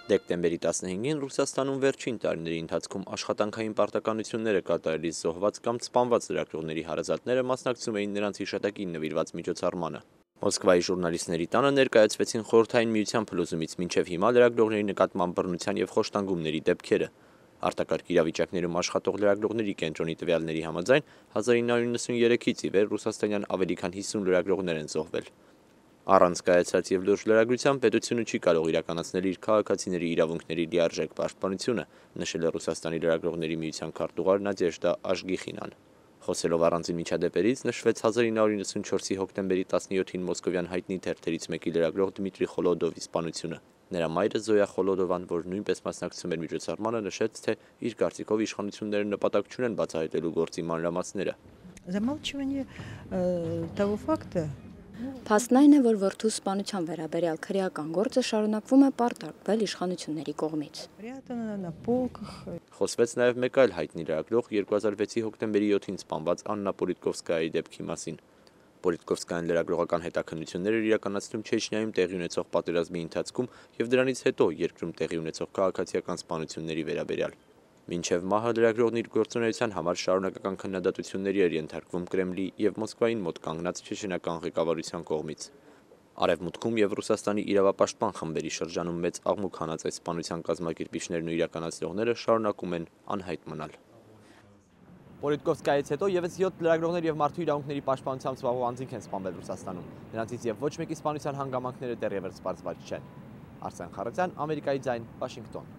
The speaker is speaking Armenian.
Դեկտեմբերի 15-ին Ռուսաստանում վերջին տարիների ընթացքում աշխատանքային պարտականությունները կատարելիս զոհված կամ սպանված լրագրողների հարազատները մասնակցում էին նրանց հիշատակին նվիրված միջոցառմանը։ Մոսկվայի ժուրնալիստների տանը ներկայացվեցին Խորհրդային Միության փլուզումից մինչև հիմա լրագրողների նկատմամբ բռնության եւ խոշտանգումների դեպքերը։ Արտակարգ իրավիճակներում աշխատող լրագրողների կենտրոնի տվյալների համաձայն 1993-ից ի վեր ռուսաստանյան ավելի քան 50 լրագրողներ են զոհվել։ Առանց կայացած եւ լուրջ լրագրության պետությունը չի կարող իրականացնել իր քաղաքացիների իրավունքների լիարժեք պաշտպանությունը, նշել է Ռուսաստանի լրագրողների միության քարտուղար Նադեժդա Աշգիխինան։ Խոսելով առանձին միջադեպերից, նշվեց 1994-ի հոկտեմբերի 17-ին մոսկովյան հայտնի թերթերից մեկի լրագրող Դմիտրի Խոլոդովի սպանությունը։ Նրա մայրը Զոյա Խոլոդովան, որ նույնպես մասնակցում էր միջոցառմանը, նշեց, թե իր կարծիքով իշխանությունները նպատակ չունեն բացահայտելու գործի մանրամասները։ Замалчивание того факта. Փաստն այն է, որ որդու սպանության վերաբերյալ քրեական գործը շարունակվում է պարտարկվել իշխանությունների կողմից։ Խոսվեց նաև մեկ այլ հայտնի լրագրող 2006-ի հոկտեմբերի 7-ին սպանված Աննա Պոլիտկովսկայայի դեպքի մասին։ Պոլիտկովսկայան լրագրողական հետաքննություններ էր իրականացնում Չեչնիայում տեղի ունեցող պատերազմի ընթացքում եւ դրանից հետո երկրում տեղի ունեցող քաղաքացիական սպանությունների վերաբերյալ։ Մինչև մահը լրագրողն իր գործունեության համար շարունակական քննադատությունների էր ենթարկվում Կրեմլի եւ Մոսկվային մոտ կանգնած չեչենական ղեկավարության կողմից։ Արևմուտքում եւ Ռուսաստանի իրավապաշտպան խմբերի շրջանում մեծ աղմուկ հանած այս սպանության կազմակերպիչներն ու իրականացնողները շարունակում են անհայտ մնալ։ Պոլիտկովսկայից հետո եւս 7 լրագրողներ եւ մարդու իրավունքների պաշտպանությամբ զբաղվող անձինք են սպանվել Ռուսաստանում։ Նրանցից եւ ոչ մեկի սպանության հանգամանքները դեռևս պարզված չեն։ Արսեն Խառատյան, Ամերիկայի ձայն, Վաշինգտոն։